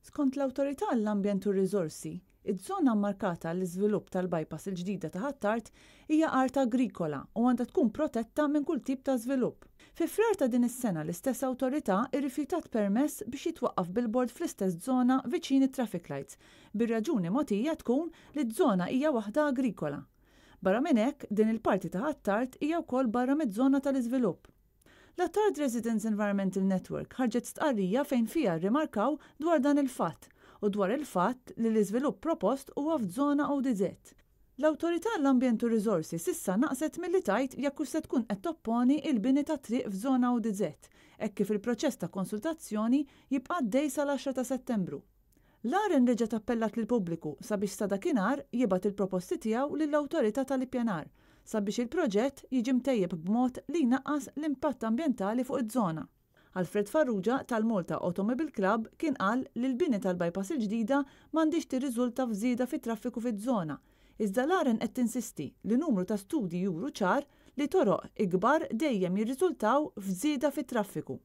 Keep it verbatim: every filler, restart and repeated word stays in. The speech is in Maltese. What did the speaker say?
Skont l-Awtorità għall-Ambjent u r-Riżorsi, iż-żona mmarkata għall-iżvilupp tal-bypass il-ġdida ta' Ħ'Attard hija art agrikola u għandha tkun protetta minn kull tip ta' żvilupp. Fi Frar ta' din is-sena, l-istess awtorità irrifjutat permess biex jitwaqqaf billboard fl-istess żona viċin it-traffic lights, bir-raġuni mogħtija tkun li ż-żona hija waħda agrikola. Barra minn hekk, din il-parti ta' Ħ'Attard hija wkoll barra miż-żona tal-iżvilupp. L-Attard Residents Environmental Network ħarġet stqarrija fejn fiha rrimarkaw dwar dan il-fatt u dwar il-fatt li l-iżvilupp propost huwa f'żona O D Z. L-Awtorità l-Ambjent u Riżorsi s'issa naqset milli tgħid jekk se tkun qed topponi il-bini ta' triq f'żona O D Z, hekk kif il-proċess ta' konsultazzjoni jibqa' għaddej sal-għaxra ta' Settembru. L-AREN reġgħet appellat lill-pubbliku sabiex sa dakinhar jibgħat il-proposti tiegħu lill-Awtorità tal-Ippjanar sabiex il-proġett jiġi mtejjeb b'mod li jnaqqas l-impatt ambjentali fuq iż-żona. Alfred Farrugia tal-Malta Automobile Club kien qal li l-bini tal-bypass il-ġdida m'għandix tirriżulta f'żieda fit-traffiku fiż-żona, iżda l-AREN qed tinsisti li numru ta' studji juru ċar li toroq ikbar dejjem jirriżultaw f'żieda fit-traffiku.